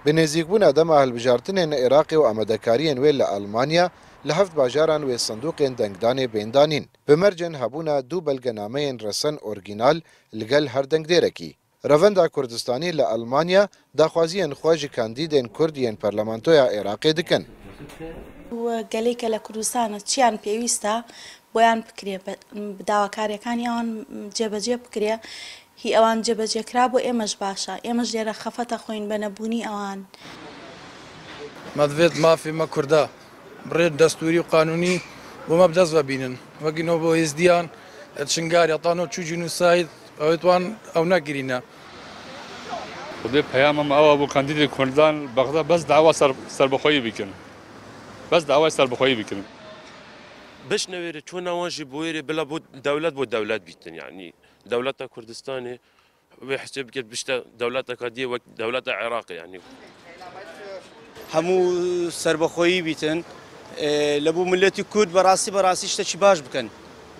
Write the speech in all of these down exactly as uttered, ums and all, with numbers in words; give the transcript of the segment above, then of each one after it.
Bi nêzîkbûna dema hilbijartinên Iraqê û amadekariyên wê li Almanya li heft bajaran wê sindoqên dengdanê bên danîn. Bi mercên hebûna du belgenameyên resen orîjînal li gel her dengdêrekî. Revenda Kurdistanî li Almanya daxwaziyên xwe ji kandîdên Kurd yên Parlamentoya Iraqê dikin. گەلێکە لە کوردستانە چیان پێویستە بۆیان بکرێ، داواکاریەکانی ئەوان جێبەجێ بکرێ، هی ئەوان جێبەجێکرا بۆ ئێمەش باشە، ئێمەش لێرە خەفەتە خۆین بە نەبوونی ئەوان. مەدوێت مافی مە کووردا بڕێت دەستوری و قانونی بۆ مە بدەست ببینن، وەگینەوە بۆ هێزدیان شنگار یاتانۆ چوو جینوساید ئەوێتوان ئەو نەگرینە. خودێ پەیامم ئەوە بۆ کاندیدی کوردان بەغدا بەس داوا سەربەخۆیی بکەن، بەس داوای سەربەخۆیی بکەن. بش نەوێرێ چۆن ناوانژی بۆیێرێ بلا بۆ دەولەت بۆ دەولەت بیتن، یعنی دەولەتە کوردستانێ وێ حسێ بکرد بشتە دەولەتەکە دیە وەک دەولەتە عێراقی، یعنی هەموو سەربەخۆیی بیتن لە بۆ ملەتی کورد بەڕاستی بەڕاستی شتێکی باش بکەن،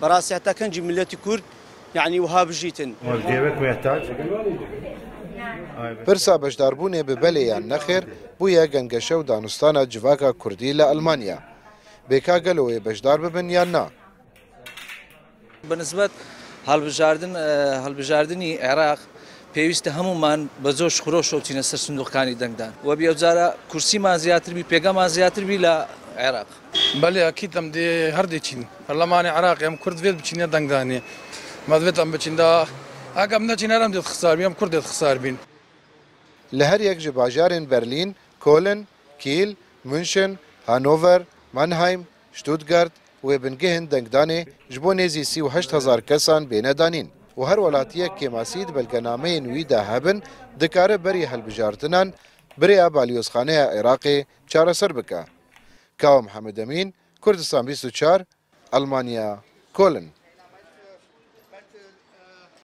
بەڕاستی هەتا کەنجی ملەتی کورد یعنی وها بژیتن. پرسا بەشداربوونێ ببەلێ یان نەخێر بوویە گەنگەشە و دانوستانە جڤاکا کوردی لە ئەلمانیا. بێکا گەلەوەی بەشدار ببن یان نا؟ بەنسبەت هەڵبژاردن هەڵبژاردنی عێراق پێویستە هەمومان بە زۆر خرۆشەوە بچینە سەر سندوقەکانی دەنگدان و بێجارە کورسیمان زیاتر بی، پێگەمان زیاتر بی لە عێراق. بەلێ ئەکید ئەم دێ هەر دێچین پەرلەمانی عێراق ئەم کورد وێت بچینە دەنگدانێ، مەدوێت ئەم بچیندا ئەگەم نەچین هەر ئەم دێت خسار بین، ئەم کورد دێت خسار بین. لە هەر یەک ji bajarên Berlîn، Koln، Kîl، München، Hannover، Mannheim، Stuttgart wê bingehên dengdanê ji bo nêzî sî û heşt hezar kesan bêne danîn û her welatiyek kêmasî di belgenameyên wî de hebin dikare berî hilbijartinan birêya Balyozxaneya Iraqê çareser bike. Kawa Mihemed Emîn، Kurdistan bîst û çar، Almanya، Koln.